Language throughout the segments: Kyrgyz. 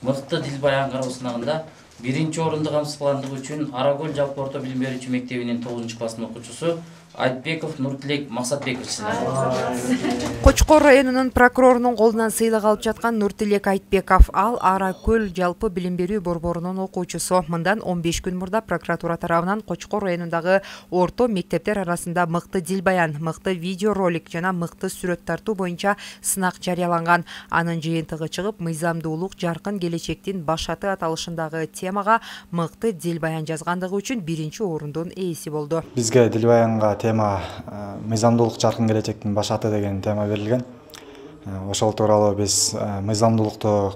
Мыкты дил баян кароо сынагында 1-орунду камсыздагандыгы үчүн Аракөл жалпы орто билим берүүчү мектебинин 9-класстын окуучусу Айтбеков Нуртилек Максатбеков сыйланды. Кочкор районунун прокурорунун колунан сыйлык алып жаткан Нуртилек Айтбеков ал Аракөл жалпы билим берүү борборунун окуучусу. Мындан 15 күн мурда прокуратура тарабынан Кочкор районундагы орто мектептер арасында мыкты дил баян, мыкты видеоролик жана мыкты сүрөт тартуу боюнча сынак жарыяланган. Анын жыйынтыгы чыгып, мыйзамдуулук жаркын келечектин башаты аталышындагы темага мыкты дил баян жазгандыгы үчүн 1-орундун ээси болду. Бизге дил баянга тема мыйзамдуулук жаркын келечектин башаты деген тема берилген. Ошол тууралуу биз мыйзамдуулукту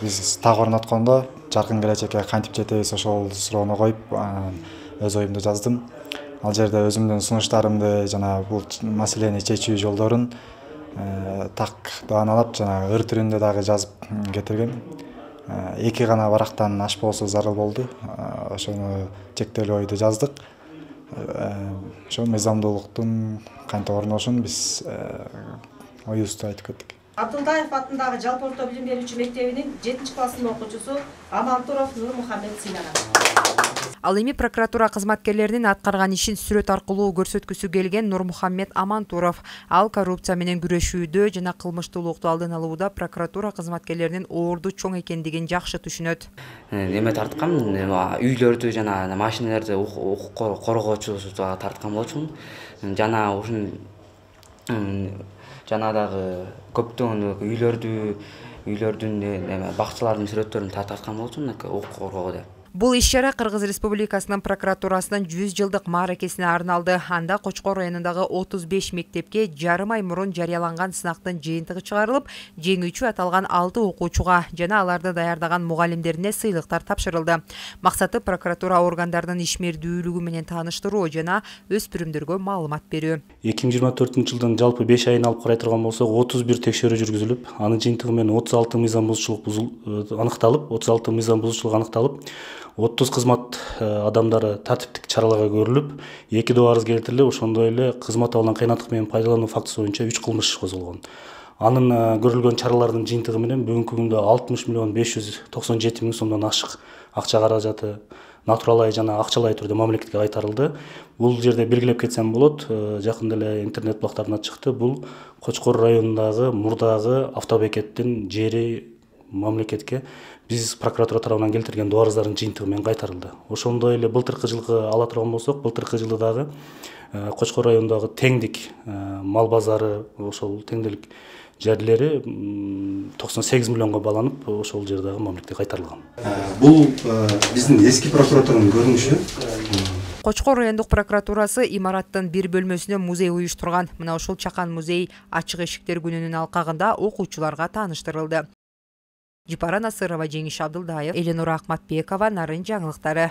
биз так орноткондо жаркын келечекке кантип жетебиз ошол суроону коюп, өз оюмду жаздым. Ал жерде өзүмдүн сунуштарымды жана бул маселени чечүү жолдорун так бааналап, жана ыр түрүндө дагы жазып кетиргем. 2 гана барактан ашпоосу зарыл болду. Ошону чектелүү ойду жаздык. Ошо мыйзамдуулуктун кантип орношун биз оюбузду айтып кеттик. Абдылдаев атындагы жалпы орто билим берүүчү мектебинин 7-класстын окуучусу Амантуров Нурмухаммед сыйланган. Ал эми прокуратура кызматкерлеринин аткарган ишин сүрөт аркылуу көрсөткүсү келген Нурмухаммед Амантуров ал коррупция менен күрөшүүдө жана кылмыштуулукту алдын алууда прокуратура кызматкерлеринин орду чоң экендигин жакшы түшүнөт. Неме тарткам, үйлөрдү жана машиналарды коргоочу тарткан болчумун. Жана ушун жана дагы көптөгөн үйлөрдүн бакчалардын сүрөттөрүн тарткан болчумун укук коргоого деп. Бул иш-чара Кыргыз Республикасынын прокуратурасынын 100 жылдык мааракесине арналды. Анда Кочкор районундагы 35 мектепке жарым ай мурун жарыяланган сынактын жыйынтыгы чыгарылып, жеңүүчү аталган 6 окуучуга жана аларды даярдаган мугалимдерине сыйлыктар тапшырылды. Максаты прокуратура органдарынын ишмердүүлүгү менен тааныштыруу жана өспүрүмдөргө маалымат берүү. 2024-жылдын жалпы 5 айын алып карай турган болсок, 31 текшерүү жүргүзүлүп, анын жыйынтыгы менен 36 мыйзам бузуучулук аныкталып, 30 кызмат адамдары тартиптик чараларга көрүлүп, 2 доо арыз келтирилип, ошондой эле кызмат абалынан кыйнаттык менен пайдалануу фактысы боюнча 3 кылмыш козголгон. Анын көрүлгөн чаралардын жыйынтыгы менен бүгүнкү күндө 60.597.000 сомдон ашык акча каражаты натуралай жана акчалай түрдө мамлекетке кайтарылды. Бул жерде белгилеп кетсем болот, жакында эле интернет булактарына чыкты. Бул Кочкор районундагы мурдагы автобекеттин жери мамлекетке биз прокуратура тарабынан келтирген доо арыздардын жыйынтыгы менен кайтарылды. Ошондой эле былтыркы жылкы ала турган болсок, былтыркы жылы дагы Кочкор районундагы теңдик мал базары, ошол теңдик жерлери 98 миллионго баланып, ошол жер дагы мамлекетке кайтарылган. Бул биздин эски прокуратуранын көрүнүшү. Кочкор райондук прокуратурасы имараттын бир бөлмөсүнө музей уюштурган. Мына ушул чакан музей ачык эшиктер күнүнүн алкагында окуучуларга тааныштырылды. Жипара Насырова, Жеңиш Абдылдаев, Эленура Акматбекова, Нарын жаңылыктары.